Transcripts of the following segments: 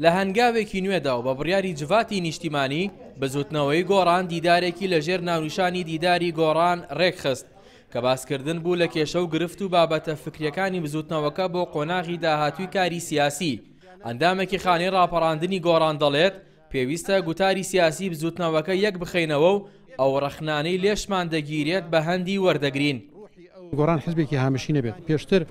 لە هەنگاوێکی نوێدا و بە بڕیاری جڤاتی نیشتیمانی، بزوتنەوەی گۆڕان دیدارێکی لەژێر ناونیشانی دیداری گۆڕان رێکخست، کە باسکردن بوو لە کێشە و گرفت و بابەتە فکریەکانی بزوتنەوەکە بۆ قۆناغی داهاتووی کاری سیاسی. ئەندامێکی خانەی ڕاپەڕاندنی گۆڕان دەڵێت، پێویستە گوتاری سیاسی بزوتنەوەکە یەک بخەینەوە و ئەو ڕەخنانەی لێشمان دەگیرێت بە هەندی وەردەگرین. گۆڕان حزبێکی هامشی نەبێت، پێشتر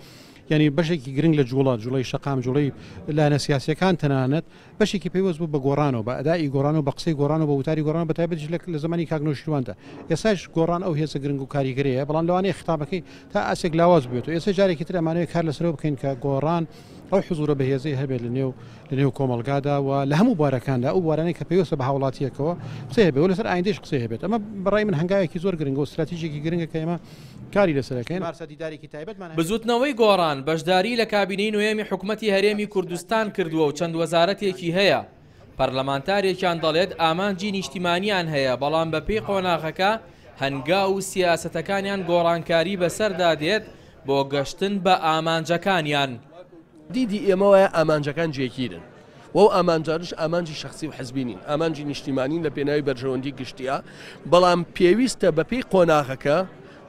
یانی بەشێکی گرنگ لە جوڵە، جوڵەی شەقام، جوڵەی لایەنە سیاسیەکان تەنانەت بەشێکی پەیوەست بوو بە گۆڕانەوە، بە ئەدائی گۆڕانەوە، بە قسەی گۆڕانەوە، بە وتاری گۆڕانەوە، بە تایبەتیش لە زەمانی کاک نەوشیرواندا. ئێستاش گۆڕان ئەو هێزە گرنگ و کاریگەرەیە، بەڵام لەوانەیە خیتابەکەی تا ئاستێک لاواز بووبێتەوە. ئێستا جارێکی تر ئەمانەوێت کار لەسەرەوە بکەین کە گۆڕان ئەو حزوورە بەهێزەی هەبێت لە نێو لە نێو کۆمەڵگادا و لە هەموو بوارەکاندا، ئەو بوارانەی کە پەیوەستە بە هاوڵاتییەکەوە قسەی هەبێت و لەسەر ئایندەیش قسەی هەبێت. ئەمە بە ڕای من هەنگاوێکی زۆر گرنگە و ستراتیژێکی گرنگە کە ئێمە کاری لەسەر ئەکەین. بزووتنەوەی گۆڕان بەشداریی لە کابینەی نۆیەمی حکومەتی هەرێمی کوردستان کردووە و چەند وەزارەتێکی هەیە. پەرلەمانتارێکیان دەڵێت ئامانجی نیشتیمانیان هەیە، بەڵام بەپێی قۆناغەکە هەنگاو و سیاسەتەکانیان گۆڕانکاری بەسەردا دێت بۆ گەشتن بە ئامانجەکانیان. دیدی ئێمە وایە ئامانجەکان جێگیرن و ئەو ئامانجانەش ئامانجی شەخسی و حزبی نین، ئامانجی نیشتیمانین لە پێناوی بەرژەوەندی گشتییە، بەڵام پێویستە بەپێی قۆناغەکە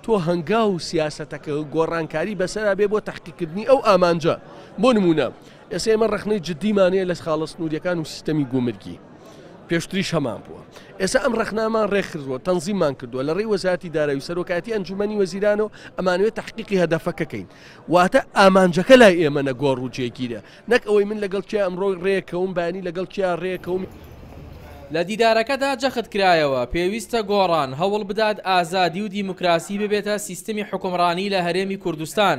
تۆ هەنگاو و سیاسەتەکە گۆڕانکاری بەسەرا بێ بۆ تەحقیقکردنی ئەو ئامانجە. بۆ نموونە ئێستا ئێمە ڕەخنەی جددیمان هەیە لە خاڵە سنوورییەکان و سیستەمی گومرگی، پێشتریش هەمان بووە، ئێستا ئەم ڕەخنەمان ڕێکخستووە، تەنزیممان کردووە لە ڕێی وەزارەتی دارایی و سەرۆکایەتی ئەنجوومەنی وەزیرانەوە ئەمانەوێت تەحقیقی هەدەفەکە کەین. واتە ئامانجەکە لای ئێمە نەگۆڕ و جێگیرە، نەک ئەوەی من لەگەڵ کێ ئەمڕۆ ڕێکەوم بەیانی لەگەڵ کێیا ڕێکەوم. لە دیدارەکەدا جەخت کرایەوە، پێویستە گۆڕان هەوڵ بدات ئازادی و دیموکراسی ببێتە سیستمی حوکمڕانی لە هەرێمی کوردستان.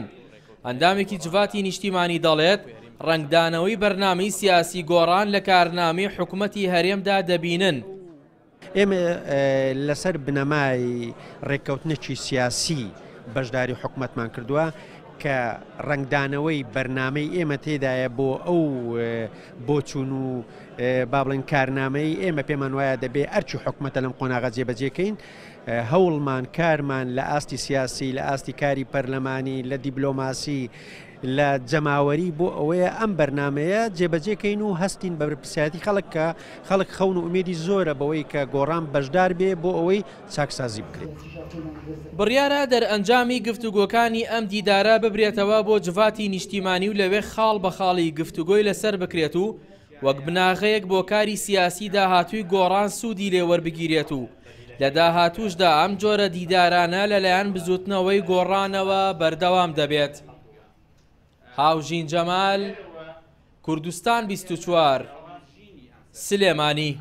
ئەندامێکی جڤاتی نیشتیمانی دەڵێت، ڕەنگدانەوەی بەرنامەی سیاسی گۆڕان لە کارنامەی حکومەتی هەرێمدا دەبینن. ئێمە لەسەر بنەمای ڕێککەوتنێکی سیاسی بەشداری حکومەتمان کردووە کە ڕەنگدانەوەی بەرنامەی ئێمە تێدایە بۆ ئەو بۆچوون و با بڵێن کارنامەی ئێمە پێمان وایە دەبێ ئەرکی حکومەتە لەم قۆناغە جێبەجێکەین هەوڵمان کارمان لە ئاستی سیاسی لە ئاستی کاری پەرلەمانی لە دیبلۆماسی لە جەماوەری بۆ ئەوەیە ئەم بەرنامەیە جێبەجێ کەین و هەستین بە بەرپرسیارەتی خەڵک کە خەڵک خەون و ئومێدی زۆرە بەوەی کە گۆڕان بەشدار بێ بۆ ئەوەی چاکسازی بکرێت. بڕیارە دەرئەنجامی گفتوگۆکانی ئەم دیدارە ببرێتەوە بۆ جڤاتی نیشتیمانی و لەوێ خاڵ بە خاڵی گفتوگۆی لەسەر بکرێت و وەک بناغەیەک بۆ کاری سیاسی داهاتووی گۆڕان سوودی لێ وەربگیرێت و لە داهاتووشدا ئەم جۆرە دیدارانە لەلایەن بزووتنەوەی گۆڕانەوە بەردەوام دەبێت. هاوژین جەمال، کوردستان 24، سلێمانی.